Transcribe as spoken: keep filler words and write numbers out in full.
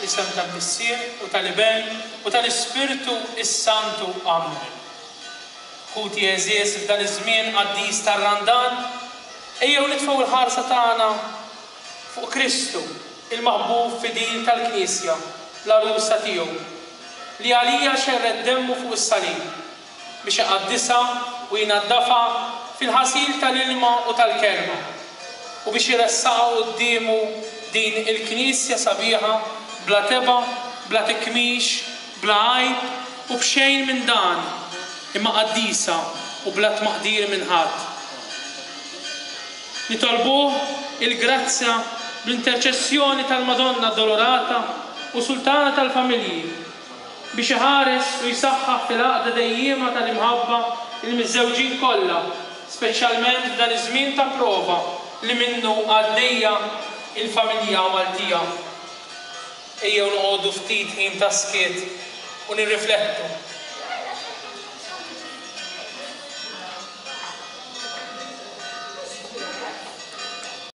Fl-isem tal-Missier u tal-Iben u tal-Ispirtu s-Santu. Amen. Ħuti għeżież, f'dan iż-żmien qaddis tar-Randan, ejjew nitfgħu l-ħarsa tagħna fuq Kristu, il-maħbub fidil tal-Knisja, l-għarusa tiegħu, li għalija xerred demmu fuq is-salib, biex iqaddisha u jnaddafha fil-ħasil tal-ilma u tal-kelma, u biex iressaqha quddiemu din il-Knisja sabiħa, bla tebgħa, bla tikmix, bla għajb u b'xejn minn dan, imma qaddisa u bla tmaqdir minn ħadd. Nitolbuh il-grazzja bl-interċessjoni tal-Madonna Addolorata u Sultana tal-Familji biex iħares u jsaħħaħ fil-għaqda dejjiema tal-imħabba il-miżżewġin kollha, speċjalment f'dan iż-żmien ta' prova li minnu għaddejja il-familja Maltija. Ejjew noqogħdu ftit ħin ta' skiet u nirriflettu.